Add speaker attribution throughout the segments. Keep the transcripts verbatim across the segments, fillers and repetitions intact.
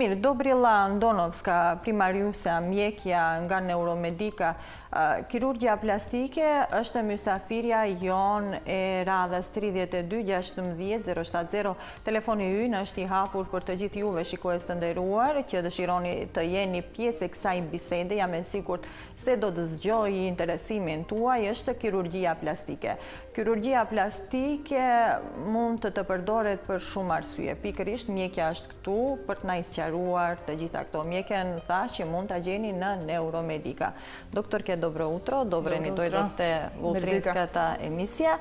Speaker 1: Мир, Добрила Андоновска, примариуса Мјекја, nga Neuromedica, Kirurgia plastike është mysafirja jon e radhës tridhjetë e dy gjashtëmbëdhjetë zero shtatë zero. Telefoni ynë është i hapur për të gjithë juve shikues të nderuar që dëshironi të jeni pjesë e kësaj bisede. Jam e sigurt se do të zgjojë interesimin tuaj. Është kirurgjia plastike. Kirurgjia plastike mund të të përdoret për shumë arsye. Pikërisht mjekja është këtu për të na sqaruar të gjitha këto. Mjekën tha që mund ta gjeni në Neuromedica. Doktorke, добро утро, добре ни дојдовте во утринската емисија.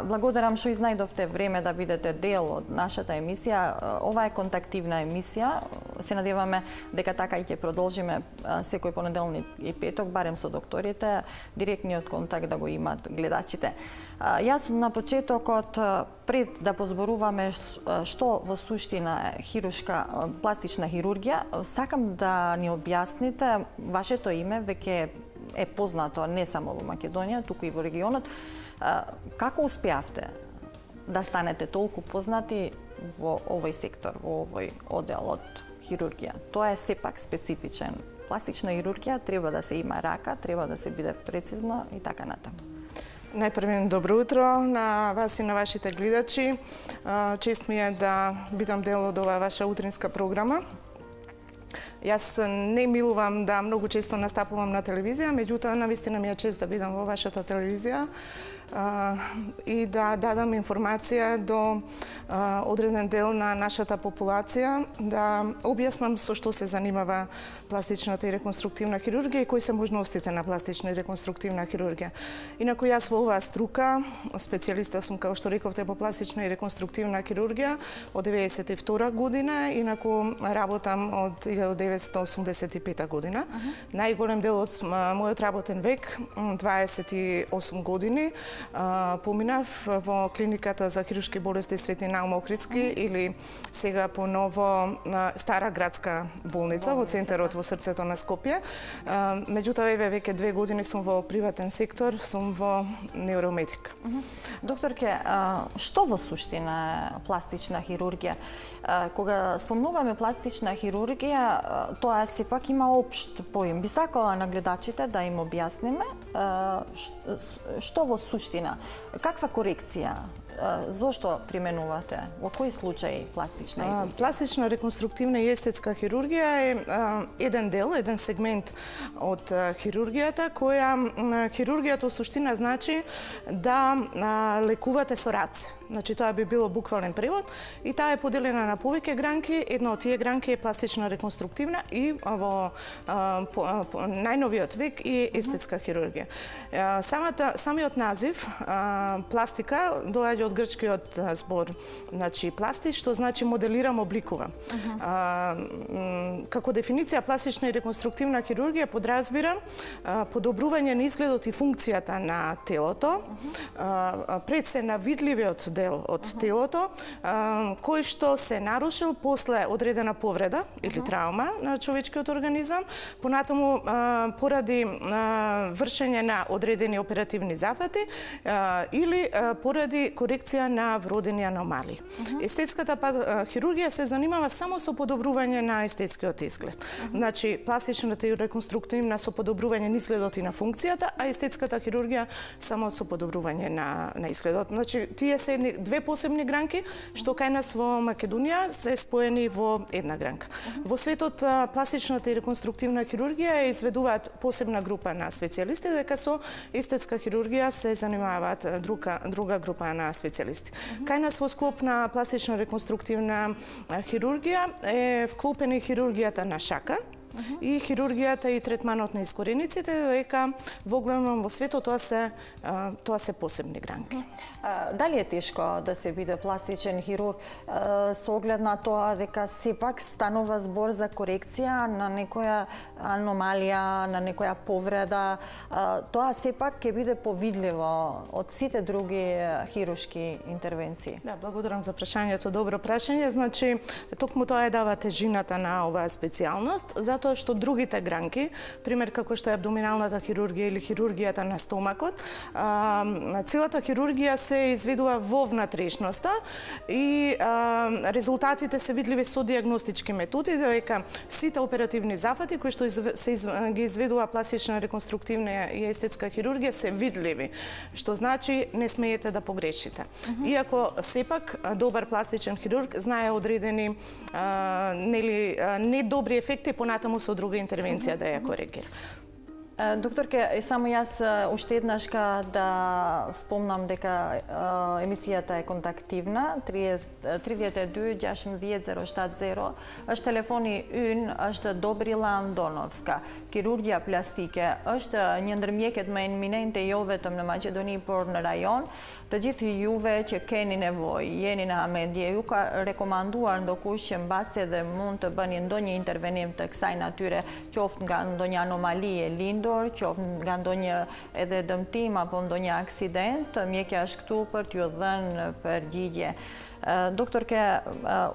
Speaker 1: Благодарам што изнајдовте време да бидете дел од нашата емисија. Ова е контактивна емисија. Се надеваме дека така и ќе продолжиме секој понеделник и петок, барем со докторите, директниот контакт да го имат гледачите. Јас на почетокот, пред да позборуваме што во суштина е хируршка пластична хирургија, сакам да ни објасните вашето име, веќе е познато не само во Македонија, туку и во регионот. Како успеавте да станете толку познати во овој сектор, во овој оддел од хирургија? Тоа е сепак специфичен. Пластична хирургија треба да се има рака, треба да се биде прецизно и така натаму.
Speaker 2: Најпрво добро утро на вас и на вашите гледачи. Чест ми е да бидам дел од оваа ваша утринска програма. Јас не милувам да многу често настапувам на телевизија, меѓутоа навистина ми е чест да бидам во вашата телевизија и да дадам информација до одреден дел на нашата популација, да објаснам со што се занимава пластичната и реконструктивна хирургија и кои се можностите на пластична и реконструктивна хирургија. Инаку јас во оваа струка, специјалиста сум, како што рековте, по пластична и реконструктивна хирургија од деветдесет и втора година, инаку работам од илјадум деветстотини осумдесет и пета година. Uh -huh. Најголем дел од мојот работен век, дваесет и осум години, поминав во клиниката за хируршки болести Свети Наум Охридски, uh -huh. или сега поново Стара градска болница, болница во центарот во срцето на Скопје. Меѓутоа, еве веќе две години сум во приватен сектор, сум во Неуромедика.
Speaker 1: Uh -huh. Докторке, што во суштина е пластична хирургија? Кога спомнуваме пластична хирургија, тоа сепак има општ поим. Би сакала на гледачите да им објасниме што во суштина, каква корекција, зошто применувате, во кои случаи пластична хирургија?
Speaker 2: Пластична, реконструктивна и естетска хирургија е еден дел, еден сегмент од хирургијата, која хирургијата во суштина значи да лекувате со раце. Значи, тоа би било буквален превод и таа е поделена на повеќе гранки. Една од тие гранки е пластична реконструктивна и во а, по, а, по, најновиот век и естетска хирургија. А, самата, самиот назив а, пластика доаѓа од грчкиот збор, значи пластич, што значи моделирам, обликувам. Uh -huh. а, како дефиниција, пластична и реконструктивна хирургија подразбира а, подобрување на изгледот и функцијата на телото, uh -huh. а, пред се на видливиот дел од uh -huh. телото, а, кој што се нарушил после одредена повреда или uh -huh. травма на човечкиот организам, понатаму а, поради а, вршење на одредени оперативни зафати а, или а, поради корекција на вродени аномалии. Uh -huh. Естетската хирургија се занимава само со подобрување на естетскиот изглед. Uh -huh. Значи, пластичната и реконструктивна со подобрување на изгледот и на функцијата, а естетската хирургија само со подобрување на, на изгледот. Значи, тие се едни, две посебни гранки, што кај нас во Македонија се споени во една гранка. Uh -huh. Во светот, пластичната и реконструктивна хирургија изведуваат посебна група на специјалисти, дека со естетска хирургија се занимаваат друга, друга група на специјалисти. Uh -huh. Кај нас во склоп на пластична реконструктивна хирургија е вклопена хирургијата на шака, Uh -huh. и хирургијата и третманот на искорениците, дека во главном во светот тоа се тоа се посебни гранки. Uh
Speaker 1: -huh. Дали е тешко да се биде пластичен хирург со оглед на тоа дека сепак станува збор за корекција на некоја аномалија, на некоја повреда? Тоа сепак ќе биде повидливо од сите други хируршки интервенции.
Speaker 2: Да, благодарам за прашањето, добро прашање. Значи, токму тоа е дава тежината на оваа специјалност, затоа затоа што другите гранки, пример како што е абдоминалната хирургија или хирургијата на стомакот, целата хирургија се изведува во внатрешноста и резултатите се видливи со диагностички методи, дека сите оперативни зафати кои што се ги изведува пластична, реконструктивна и естетска хирургија се видливи, што значи не смеете да погрешите. Uh-huh. Иако сепак добар пластичен хирург знае одредени а, нели недобри ефекти понатаму со друга интервенција uh-huh. да ја коригира.
Speaker 1: Докторке, само јас уште еднаш да спомнам дека емисијата е контактивна, три девет две ѓашум девет зеро штат зеро, është telefoni ynë, është Dobrila Andonovska. Kirurgia plastike është një ndër mjeket më eminente jo vetëm në Maqedoni, por në rajon. Të gjithë juve që keni nevojë, jeni në hamendje, ju ka rekomanduar ndokush që mbasi edhe mund të bëni ndonjë intervenim të kësaj natyre, qoftë nga ndonjë anomali e lindur, qoftë nga ndonjë edhe dëmtim apo ndonjë aksident, mjekja është këtu për t'ju dhënë përgjigje. Докторке,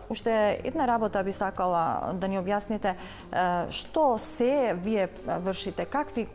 Speaker 1: уште една работа би сакала да ни објасните што се вие вршите, какви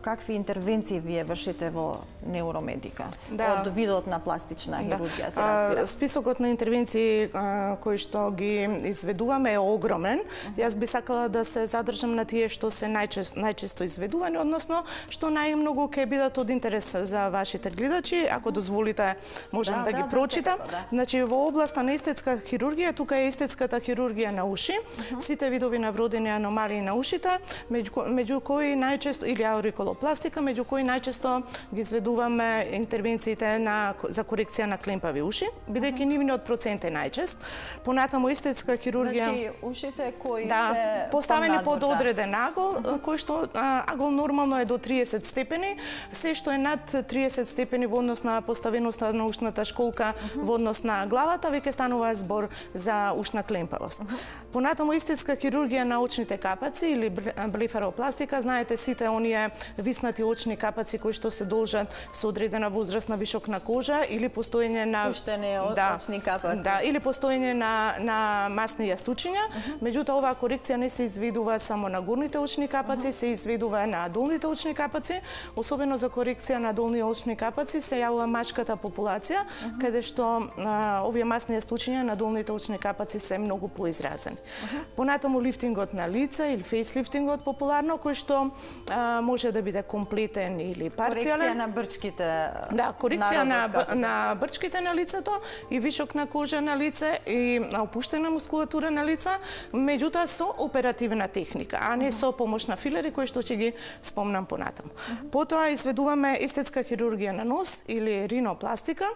Speaker 1: какви интервенции вие вршите во Neuromédica
Speaker 2: да.
Speaker 1: Од видот на пластична хирургија се
Speaker 2: разбира. Списокот на интервенции кои што ги изведуваме е огромен. Јас би сакала да се задржам на тие што се најчесто најчесто изведувани, односно што најмногу ќе бидат од интерес за вашите гледачи. Ако дозволите, можам да, да, да ги прочитам. Да, да. Значи во областа на естетска хирургија, тука е естетската хирургија на уши, uh-huh. сите видови на вродени аномалии на ушите, меѓу, меѓу кои најчесто, или аурикулопластика, меѓу кои најчесто ги изведуваме интервенциите на, за корекција на клемпави уши, бидејќи uh-huh. нивниот процент е најчест. Понатаму естетска хирургија...
Speaker 1: Значи, ушите кои
Speaker 2: да,
Speaker 1: се...
Speaker 2: поставени под одреден агол, uh-huh. кој што а, агол нормално е до триесет степени, се што е над триесет степени во однос на поставеноста на ушната школка, uh-huh. во однос на главата, веќе станува збор за ушна клемпавост. Uh-huh. Понатаму естетска хирургија на очните капаци или блефаропластика, знаете сите оние виснати очни капаци кои што се должат со одредена возраст на вишок на кожа или постоење на
Speaker 1: пуштене
Speaker 2: да,
Speaker 1: очни капаци.
Speaker 2: Да, или постоење на на масни јастучиња. Uh-huh. Меѓутоа оваа корекција не се изведува само на горните очни капаци, uh-huh. се изведува на долните очни капаци, особено за корекција на долни очни капаци се јавува машката популација, uh-huh. каде што а, овие масни јастучиња на долните очни капаци се многу поизразени. Uh-huh. Понатаму лифтингот на лице или фейслифтингот популарно, кој што а, може да биде комплетен или парцијален.
Speaker 1: Корекција на брчките.
Speaker 2: Да, корекција на, на брчките на лицето и вишок на кожа на лице и опуштена мускулатура на лица, меѓутоа со оперативна техника, а не uh-huh. со помош на филери кои што ќе ги спомнам понатаму. Uh-huh. Потоа изведуваме естетска хирургија на нос или ринопластика.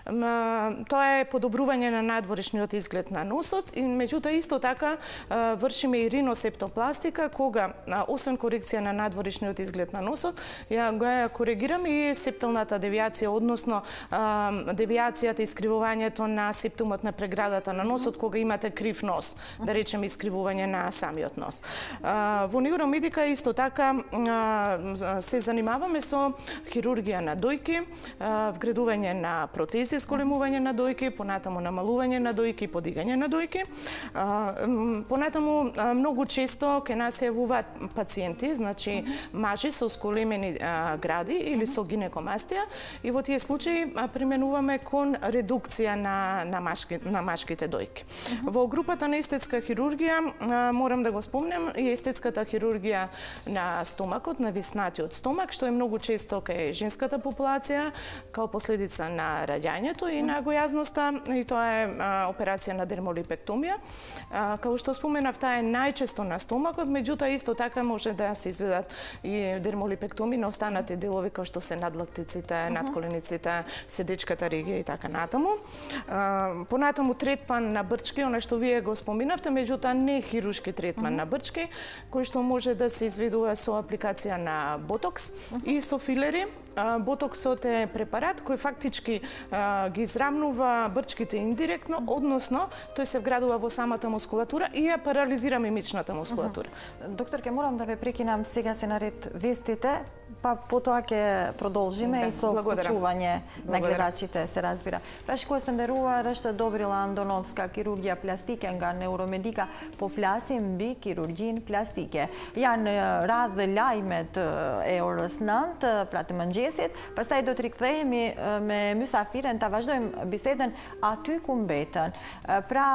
Speaker 2: Тоа е подобрување на надворешниот изглед на носот и меѓутоа исто така вршиме и риносептопластика, кога освен корекција на надворешниот изглед на носот, ја го коригираме и септалната девијација, односно девијацијата и искривувањето на септумот на преградата на носот кога имате крив нос, да речеме искривување на самиот нос. Во Neuromédica исто така се занимаваме со хирургија на дојки, вградување на протези, зголемување на дојки, понатаму намалување на дојки, подигање на дојки. Понатаму многу често кај нас се јавуваат пациенти, значи мажи со зголемени гради или со гинекомастија, и во тие случаи применуваме кон редукција на на, машки, на машките дојки. Во групата на естетска хирургија морам да го спомнем и естетската хирургија на стомакот, на виснатиот стомак, што е многу често кај женската популација као последица на раѓањето и на гојазноста, и тоа е а, операција на дермолипектомија. А, како што споменав, таа е најчесто на стомакот, меѓутоа исто така може да се изведат и дермолипектомии на останати делови како што се надлактиците, uh-huh. надколениците, седечката регија и така натаму. А, понатаму третман на брчки, она што вие го споминавте, меѓутоа не хируршки третман uh-huh. на брчки, кој што може да се изведува со апликација на ботокс uh-huh. и со филери. Ботоксот е препарат кој фактички а, ги израмнува брчките индиректно, односно тој се вградува во самата мускулатура и ја парализира мимичната мускулатура.
Speaker 1: Uh-huh. Докторке, морам да ве прекинам, сега се наред вестите, па потоа ќе продолжиме. продолжиме
Speaker 2: да,
Speaker 1: и со вклучување на гледачите, се разбира. Праши кој стендерува ръща Добрила Андоновска хирургија пластике nga neuromedika, po flasim mbi kirurgjin plastike. Janë radhë lajmet e orës nëntë, pra të mëngjesit, pastaj do të rikthehemi me mysafiren, ta vazhdojmë bisedën aty ku mbetën. Pra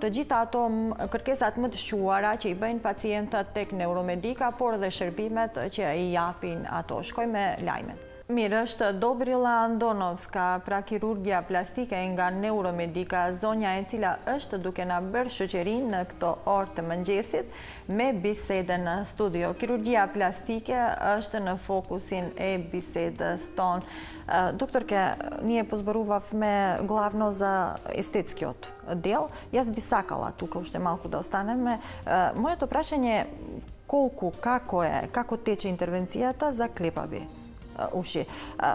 Speaker 1: të gjitha ato kërkesat më të shquara që i bëjnë pacientët tek neuromedika, por dhe shërbimet që i japin ato. Shkoj me lajmen. Mirë, është Dobrila Andonovska, pra kirurgja plastike nga neuromedika, zonja e cila është duke na bërë shoqërinë në këto orë të mëngjesit me bisedën në studio. Kirurgjia plastike është në fokusin e bisedës tonë. Doktorke, ние позборувавме главно за естетскиот дел. Јас би сакала тука уште малку да останеме. Моето прашање е колку, како е, како тече интервенцијата за клепави уши.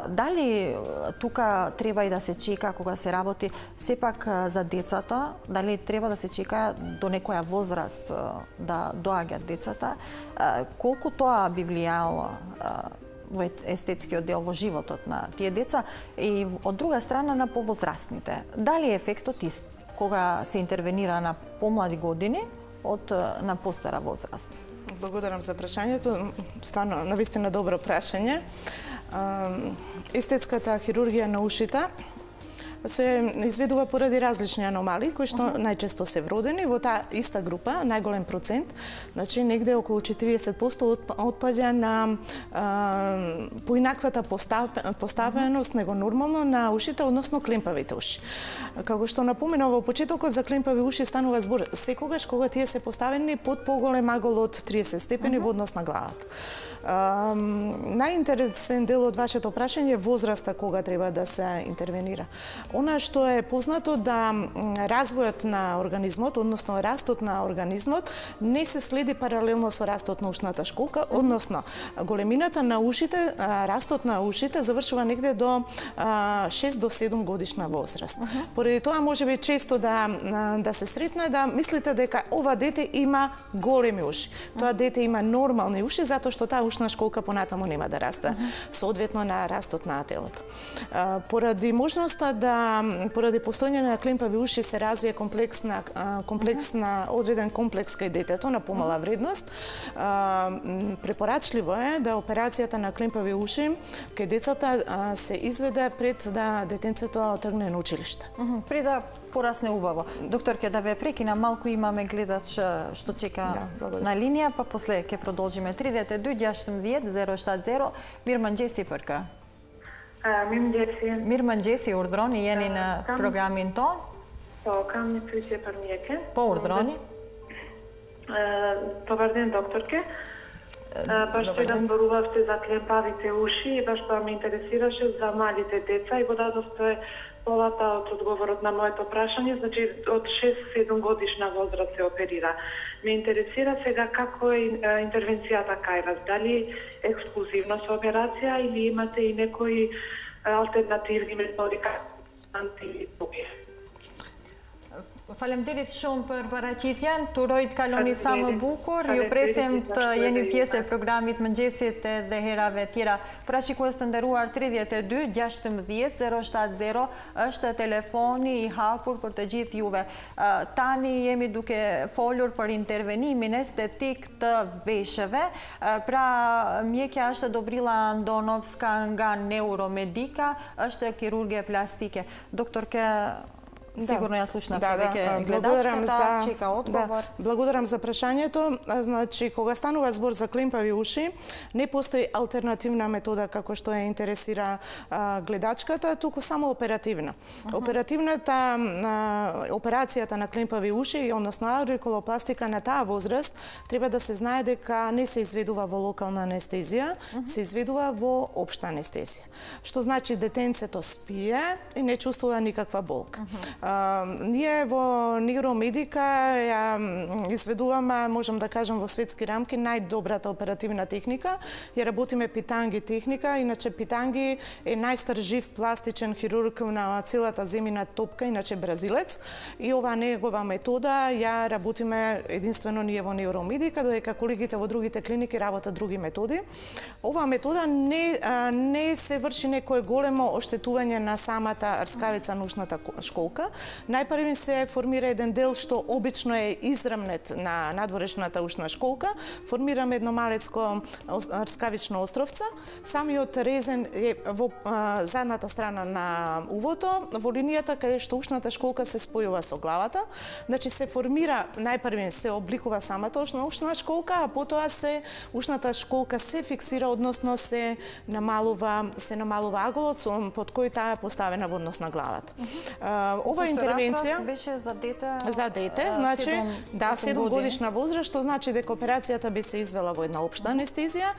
Speaker 1: Дали тука треба и да се чека кога се работи сепак за децата, дали треба да се чека до некоја возраст да доаѓаат децата, колку тоа би влијало во естетскиот дел во животот на тие деца и од друга страна на повозрастните. Дали ефектот ист кога се интервенира на помлади години од на постара возраст?
Speaker 2: Благодарам за прашањето. Стварно, навистина добро прашање. Естетската хирургија на ушите се изведува поради различни аномалии, кои што најчесто се вродени во таа иста група, најголем процент, значи негде околу четириесет проценти отпаѓа на а, поинаквата поставеност него нормално на ушите, односно клемпавите уши. Како што напоменав во почетокот, за клемпави уши станува збор секогаш кога тие се поставени под поголем агол од триесет степени во однос на главата. Uh, најинтересен дел од вашето прашање е возраста кога треба да се интервенира. Она што е познато да развојот на организмот, односно растот на организмот, не се следи паралелно со растот на ушната школка, односно големината на ушите, растот на ушите завршува негде до шест до седум годишна возраст. Uh -huh. Поради тоа можеби често да да се сретне да мислите дека ова дете има големи уши. Тоа дете има нормални уши затоа што таа ушна школка понатаму нема да расте, соодветно на растот на телото. Поради можноста да, поради постојање на клемпави уши се развие комплексна, комплексна, одреден комплекс кај детето на помала вредност, препорачливо е да операцијата на клемпави уши кај децата се изведе пред да детенцето тргне на училиште.
Speaker 1: Пред да порасне убаво. Докторке, да ве прекина, малку имаме гледач што чека да, на линија, па после ќе продолжиме. тридесет и две ѓаштумдесет зеро седем зеро. Мирманџеси Пырка.
Speaker 3: Мирманџеси.
Speaker 1: Мирманџеси урдрони jeni në programin ton?
Speaker 3: Po, kam një pyetje për mjekën.
Speaker 1: Po, urdroni.
Speaker 3: Po vardhen doktorke. Baš што да зборувавте за клемпавите уши и баш тоа ме интересираше за малите деца и го дадовте полата од одговорот на моето прашање, значи од шест-седум годишна возраст се оперира. Ме интересира сега како е интервенцијата кај вас, дали ексклузивно со операција или имате и некои алтернативни методи или други.
Speaker 1: Faleminderit shumë për paraqitjen, të uroj të kaloni sa më bukur, ju presim të jeni pjesë e programit mëngjesit dhe herave tjera. Pra shikues të nderuar, tridhjetë e dy gjashtëmbëdhjetë zero shtatë zero është telefoni i hapur për të gjithë juve. Tani jemi duke folur për intervenimin estetik të veshëve, pra mjekja është Dobrila Andonovska nga neuromedika, është kirurgje plastike. Doktorke, сигурно ја слушнавте
Speaker 2: да,
Speaker 1: дека гледачката чека одговор.
Speaker 2: Да, благодарам за прашањето. Значи, кога станува збор за клемпави уши, не постои алтернативна метода како што ја интересира а, гледачката, туку само оперативна. Uh -huh. Оперативната а, операцијата на клемпави уши, односно аурикулопластика на таа возраст, треба да се знае дека не се изведува во локална анестезија, uh -huh. се изведува во општа анестезија. Што значи детенцето спие и не чувствува никаква болка. Uh -huh. Ние во нейромедика ја изведуваме, можам да кажам во светски рамки, најдобрата оперативна техника. Ја работиме питанги техника, иначе питанги е најстар жив пластичен хирург на целата земјина топка, иначе бразилец. И ова негова метода ја работиме единствено ние во нейромедика, додека колегите во другите клиники работат други методи. Оваа метода не, не се врши некое големо оштетување на самата рскавица на ушната школка. Најпрви се формира еден дел што обично е израмнет на надворешната ушна школка. Формираме едно малецко рскавично островца. Самиот резен е во а, задната страна на увото, во линијата каде што ушната школка се спојува со главата. Значи се формира, најпрви се обликува самата ушна, ушна школка, а потоа се ушната школка се фиксира, односно се намалува, се намалува аголот под кој таа е поставена во однос на главата. Uh -huh. Ова
Speaker 1: Пошто
Speaker 2: интервенција
Speaker 1: беше за дете,
Speaker 2: за дете, значи
Speaker 1: седум,
Speaker 2: да, седум годишна возраст, што значи дека операцијата би се извела во една општа анестезија.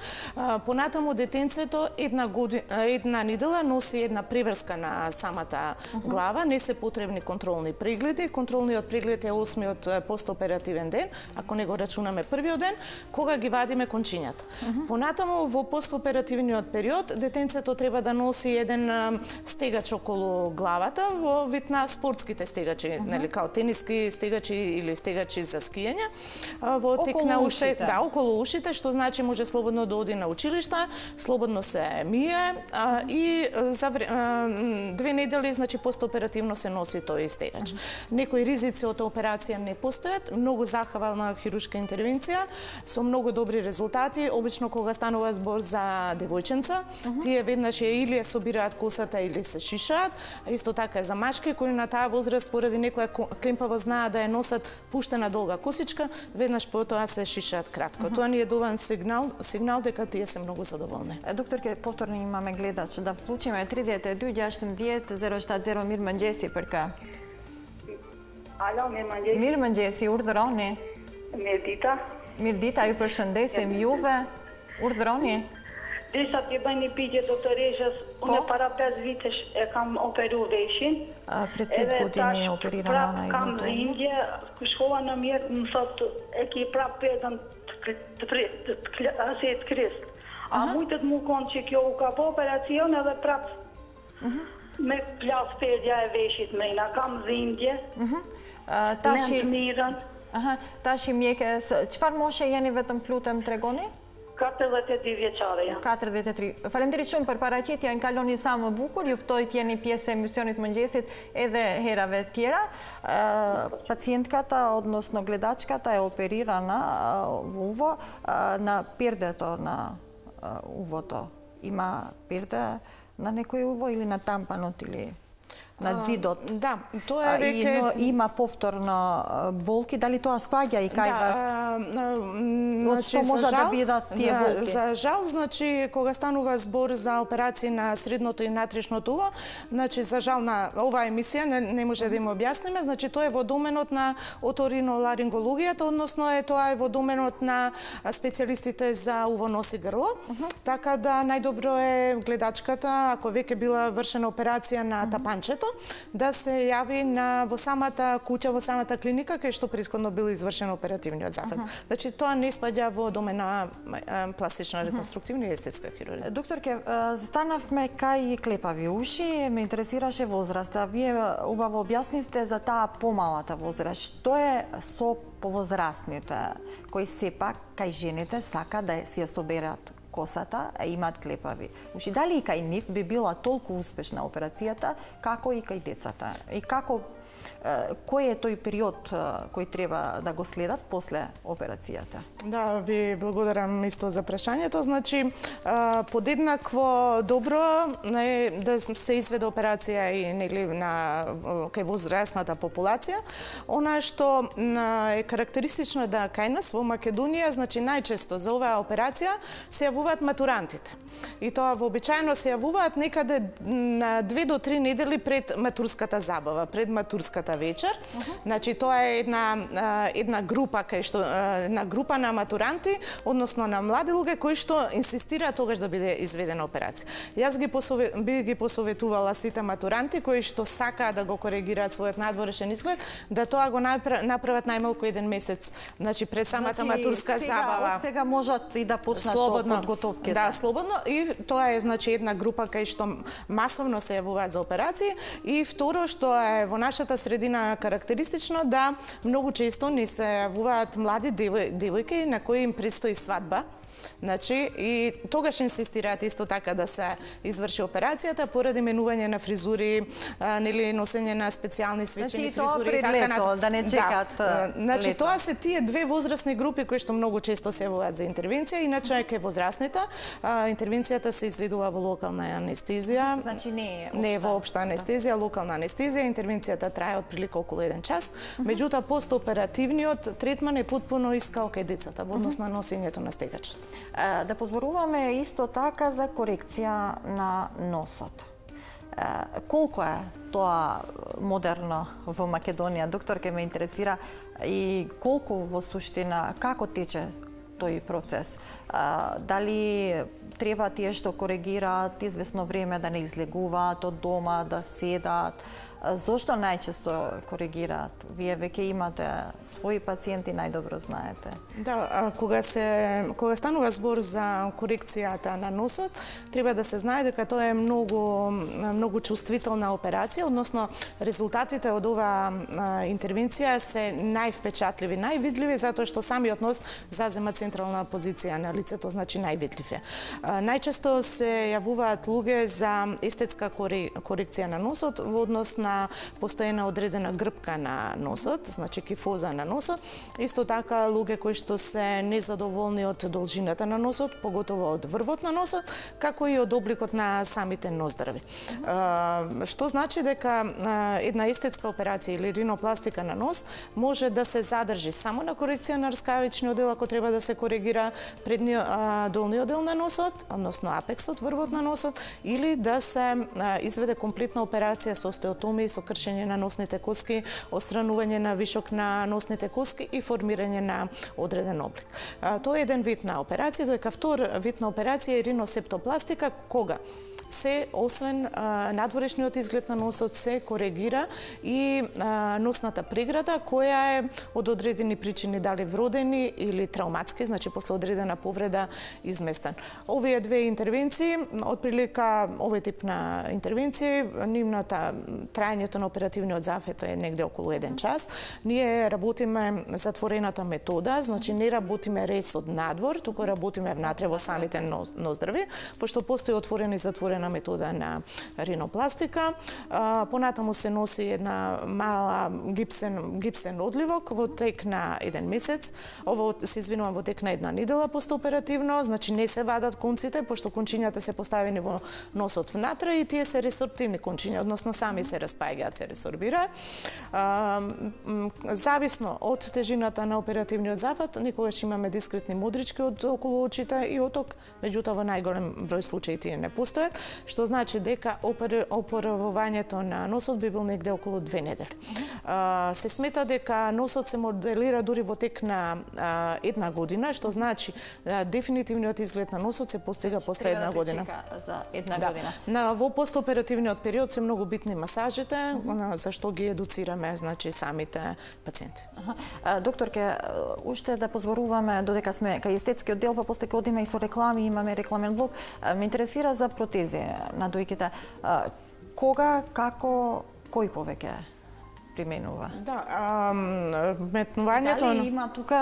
Speaker 2: Понатаму детенцето една година, една недела носи една преврска на самата uh -huh. глава, не се потребни контролни прегледи. Контролниот преглед е осмиот постоперативен ден, ако не го рачунаме првиот ден, кога ги вадиме кончињата. Uh -huh. Понатаму во постоперативниот период детенцето треба да носи еден стегач околу главата во вид на спортските стегачи, uh -huh. нели као тениски стегачи или стегачи за скијање. Во тек на ушите, да, околу ушите, што значи може слободно да оди на училишта, слободно се мие а, и за а, две недели, значи постоперативно се носи тој стегач. Uh -huh. Некои ризици од операција не постојат, многу захвална хируршка интервенција со многу добри резултати. Обично кога станува збор за девојченца, uh -huh. тие веднаш или ја собираат косата или се шишаат, а исто така е за машки кои на таа возраст поради некоја клемпаво знаат да ја носат пуштена долга косичка, веднаш потоа се шишаат кратко. Uh -huh. Тоа ни е доволен сигнал, сигнал дека тие се многу задоволни.
Speaker 1: Докторке, повторно имаме гледач да вклучиме три девет две јаштим девет зеро штат зеро Mirmanjesi përka.
Speaker 4: Alo, Mirmanjesi.
Speaker 1: Mirmanjesi, urdhëroni.
Speaker 4: Mirdita.
Speaker 1: Mirdita, ju përshëndesim juve. Urdhëroni.
Speaker 4: Desha t'je bëj një pyetje doktoreshës, unë para pesë vitesh e kam operu veshin.
Speaker 1: Pret pet godini e operira nana i
Speaker 4: kam dhimbje, ku shkova në mjet më thot e ki prap pedën të kristë. A mujtet mu konë që kjo u ka po operacion edhe prap me plas pedja e veshit me ina, kam dhimbje, me në mirën.
Speaker 1: Tashi mjeke, qëfar moshe jeni vetëm lutem tregoni?
Speaker 4: katërdhjetë e dy vjeçare jam.
Speaker 1: katërdhjetë e tri. Faleminderit shumë për paraqitjen, kaloni sa më bukur, ju ftoj të jeni pjesë e emisionit Mëngjesit edhe herave tjera. Pacijentkata, odnosno gledačkata je operirana v uvo na pirdeto na uvoto. Ima pirde na nekoj uvo ili na tampanot ili на зидот.
Speaker 2: Да, тоа е веќе
Speaker 1: и има повторно болки, дали тоа спаѓа и кај вас? Од што може да бидат тие болки?
Speaker 2: За жал, значи кога станува збор за операции на средното и внатрешното уво, значи за жал на оваа емисија не, не може да им објасниме, значи тоа е во доменот на оториноларингологијата, односно е тоа е во доменот на специјалистите за уво, нос и грло. Uh -huh. Така да најдобро е гледачката, ако веќе била вршена операција на uh -huh. тапанчето, да се јави на во самата куќа, во самата клиника кај што претходно бил извршен оперативниот зафат. Uh -huh. Значи тоа не спаѓа во домена пластична реконструктивна и естетска хирургија.
Speaker 1: Докторке, станавме кај клепави уши, ме интересираше возраста. Вие убаво објаснивте за таа помалата возраст. Што е со повозрастните кои сепак кај жените сака да си ја соберат косата, а имаат клепави уши? Дали и кај нив би била толку успешна операцијата, како и кај децата? И како, кој е тој период кој треба да го следат после операцијата?
Speaker 2: Да, ви благодарам исто за прашањето. Значи, подеднакво добро е да се изведе операција и нели на кај возрастната популација. Она што е карактеристично да кај нас во Македонија, значи најчесто за оваа операција се јавуваат матурантите. И тоа вообичаено се јавуваат некаде на две до три недели пред матурската забава, пред матурската матурската вечер. Значи тоа е една една група кај што една група на матуранти, односно на млади луѓе кои што инсистираат тогаш да биде изведена операција. Јас ги посове, би ги посоветувала сите матуранти кои што сакаат да го коригираат својот надворешен изглед, да тоа го направат најмалку еден месец, значи пред самата
Speaker 1: значи,
Speaker 2: матурска
Speaker 1: сега,
Speaker 2: забава.
Speaker 1: Од сега можат и да почнат со подготовките.
Speaker 2: Да, слободно, и тоа е значи една група кај што масовно се јавуваат за операции, и второ што е во нашата средина карактеристично да многу често ни се јавуваат млади девојки на кои им престои свадба. Значи, и тогаш инсистираат исто така да се изврши операцијата поради менување на фризури, а, нели носење на специјални свечени
Speaker 1: значи,
Speaker 2: фризури и
Speaker 1: така
Speaker 2: лето,
Speaker 1: да не чекаат.
Speaker 2: Да. Значи,
Speaker 1: лето.
Speaker 2: тоа се тие две возрастни групи кои што многу често се јавуваат за интервенција, иначе кај возрастните интервенцијата се изведува во локална анестезија.
Speaker 1: Значи не е
Speaker 2: не е воопшта анестезија, локална анестезија, интервенцијата трае отприлика околу еден час. Меѓутоа постоперативниот третман е потпуно искао кај децата во однос на носењето на стегачот.
Speaker 1: Да позборуваме исто така за корекција на носот. Колку е тоа модерно во Македонија? Доктор, ке ме интересира и колку во суштина, како тече тој процес? Дали треба тие што коригираат извесно време да не излегуваат од дома, да седат? Зошто најчесто коригираат? Вие веќе имате своји пациенти, најдобро знаете.
Speaker 2: Да, кога се кога станува збор за корекцијата на носот, треба да се знае дека тоа е многу многу чувствителна операција, односно резултатите од оваа интервенција се највпечатливи, највидливи затоа што самиот нос зазема централна позиција на лицето, значи највидлив е. Најчесто се јавуваат луѓе за естетска корекција на носот во однос на постојана одредена грбка на носот, значи кифоза на носот. Исто така луѓе кои што се незадоволни од должината на носот, поготово од врвот на носот, како и од обликот на самите ноздрви. Што значи дека една естетска операција или ринопластика на нос може да се задржи само на корекција на рскавичниот дел ако треба да се коригира предниот долниот дел на носот, односно апексот, врвот на носот, или да се изведе комплетна операција со остеотомија, со кршење на носните коски, отстранување на вишок на носните коски и формирање на одреден облик. Тоа е еден вид на операција, доека втор вид на операција е риносептопластика, кога се, освен а, надворешниот изглед на носот, се коригира и а, носната преграда, која е од одредени причини, дали вродени или трауматски, значи после одредена повреда изместен. Овие две интервенции, отприлика овој тип на интервенции, нивната трајањето на оперативниот зафет е негде околу еден час. Ние работиме затворената метода, значи не работиме рез од надвор, туку работиме внатре во самите ноздрви, пошто постои отворена и затворена метода на ринопластика. Понатаму се носи една мала гипсен, гипсен одливок во тек на еден месец. Ово се извинувам во тек на една недела постоперативно, значи не се вадат конците, пошто кончињата се поставени во носот внатре и тие се ресорптивни кончиња, односно сами се распаѓаат, се ресорбираат. Зависно од тежината на оперативниот зафат, никогаш имаме дискретни модрички од околу очите и оток, меѓутоа во најголем број случаи тие не постојат, што значи дека опоравувањето на носот би бил негде околу две недели. Uh, се смета дека носот се моделира дури во тек на uh, една година, што значи uh, дефинитивниот изглед на носот се постига после една година.
Speaker 1: Треба да се чека за една
Speaker 2: да.
Speaker 1: година.
Speaker 2: На во постоперативниот период се многу битни масажите, mm -hmm. зашто ги едуцираме, значи самите пациенти.
Speaker 1: Uh, докторке, уште да позборуваме додека сме кај естетскиот дел, па после ќе одиме и со реклами, имаме рекламен блок. Uh, ме интересира за протези на дојките. Кога, како, кој повеќе применува?
Speaker 2: Да, а, метнувањето...
Speaker 1: Дали има тука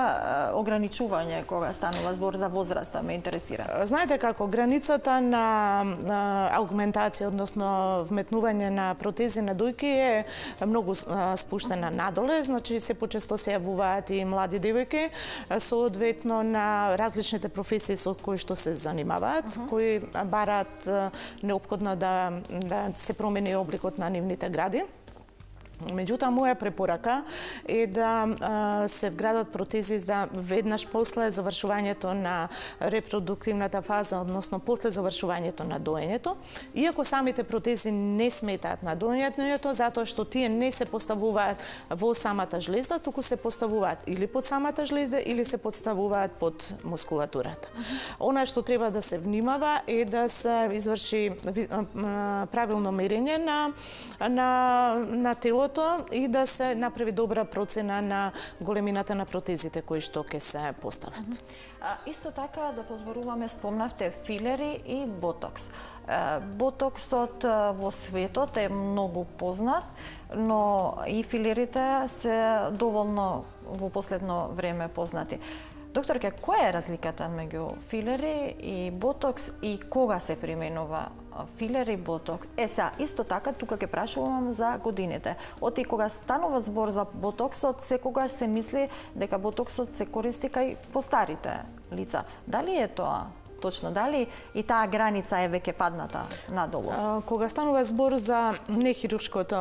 Speaker 1: ограничување кога станува збор за возраста, ме интересира?
Speaker 2: Знаете како, границата на, на аугментација, односно вметнување на протези на дојки е многу спуштена надоле, значи се почесто се јавуваат и млади девојки, соодветно на различните професии со кои што се занимаваат, uh -huh. кои бараат неопходно да, да се промени обликот на нивните гради. Меѓутоа, моја препорака е да а, се вградат протези за веднаш после завршувањето на репродуктивната фаза, односно после завршувањето на доењето, иако самите протези не сметаат на доењето, затоа што тие не се поставуваат во самата жлезда, туку се поставуваат или под самата жлезда, или се поставуваат под мускулатурата. Она што треба да се внимава е да се изврши правилно мерење на, на, на телото и да се направи добра процена на големината на протезите кои што ќе се постават. Mm -hmm.
Speaker 1: а, исто така да позборуваме, спомнавте филери и ботокс. А, ботоксот во светот е многу познат, но и филерите се доволно во последно време познати. Докторке, која е разликата меѓу филери и ботокс и кога се применува филер и ботокс? Е, сега, исто така, тука ќе прашувам за годините. Оти кога станува збор за ботоксот, секогаш се мисли дека ботоксот се користи кај постарите лица. Дали е тоа точно? Дали и таа граница е веќе падната надолу?
Speaker 2: А, кога станува збор за нехируршкото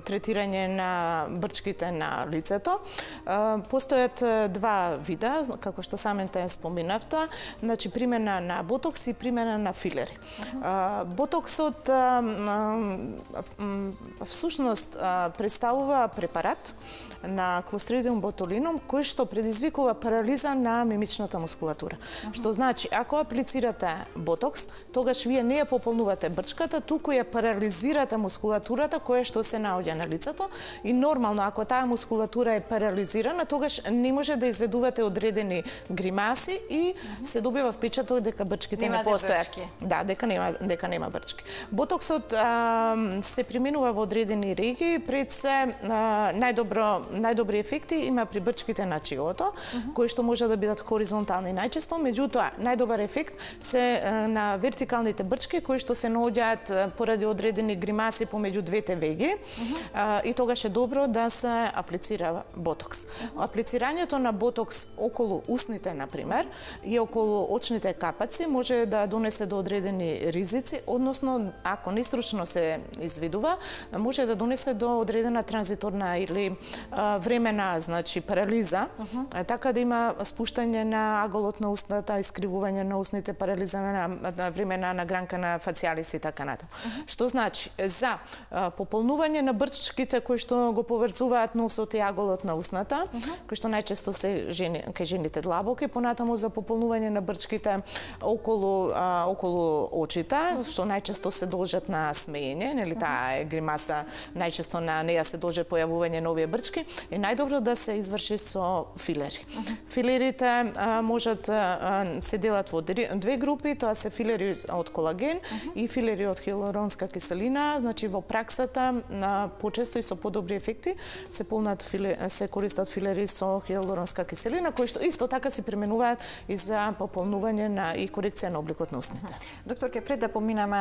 Speaker 2: третирање на брчките на лицето, а, постојат два вида, како што самите споминавте, значи примена на ботокс и примена на филери. Uh -huh. а, ботоксот а, а, всушност а, представува препарат на Clostridium botulinum кој што предизвикува парализа на мимичната мускулатура. Uh -huh. Што значи, ако аплицирате ботокс, тогаш вие не ја пополнувате брчката, туку ја парализирате мускулатурата која што се наоѓа на лицето и нормално ако таа мускулатура е парализирана, тогаш не може да изведувате одредени гримаси и uh -huh. се добива впечаток дека брчките нема не постојат. Да, дека нема дека нема брчки. Ботоксот а, се применува во одредени регии, пред се а, најдобро најдобри ефекти има при брчките на челото, uh -huh. кои што може да бидат хоризонтални најчесто, меѓутоа најдобар ефект се на вертикалните брчки кои што се наоѓаат поради одредени гримаси помеѓу двете веги. Uh -huh. И тогаш е добро да се аплицира ботокс. Uh -huh. Аплицирањето на ботокс околу устните, например, и околу очните капаци може да донесе до одредени ризици, односно ако нестручно се изведува, може да донесе до одредена транзиторна или а, времена, значи парализа, uh -huh. така да има спуштање на аголот на устната, искривување на устните, парализа на, на времена на гранка на фацијалис и така натаму. Uh -huh. Што значи за а, пополнување на брчките кои што го поврзуваат носот и аголот на устната, uh -huh. кои што најчесто се жени, кај жените длабоки, понатаму за пополнување на брчките околу а, околу очите, што најчесто се должат на смеење, нели, таа е гримаса, најчесто на неја се должат појавување на овие брчки, е најдобро да се изврши со филери. Uh -huh. Филерите а, можат а, се делат во две групи, тоа се филери од колаген uh -huh. и филери од хиалуронска киселина, значи во праксата на почесто и со подобри ефекти се полнат филе, се користат филери со хиалуронска киселина, кои што исто така се применуваат и за пополнување на и корекција на обликот на устните. Uh
Speaker 1: -huh. Докторке, пред да поминеме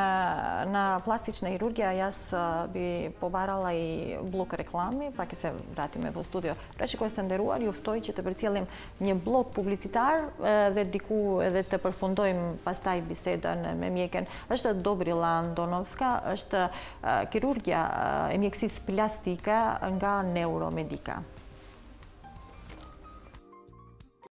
Speaker 1: на пластична хирургија, јас би побарала и блок реклами, па ќе се вратиме во студио. Праши кој сте ndëruar, ju ftoj që të përcjellim një blok publicitar dhe diku edhe të përfundojmë pastaj bisedën me mjeken. Është Dobrila Andonovska, është kirurgja e mjekësisë plastike nga Neuromedica.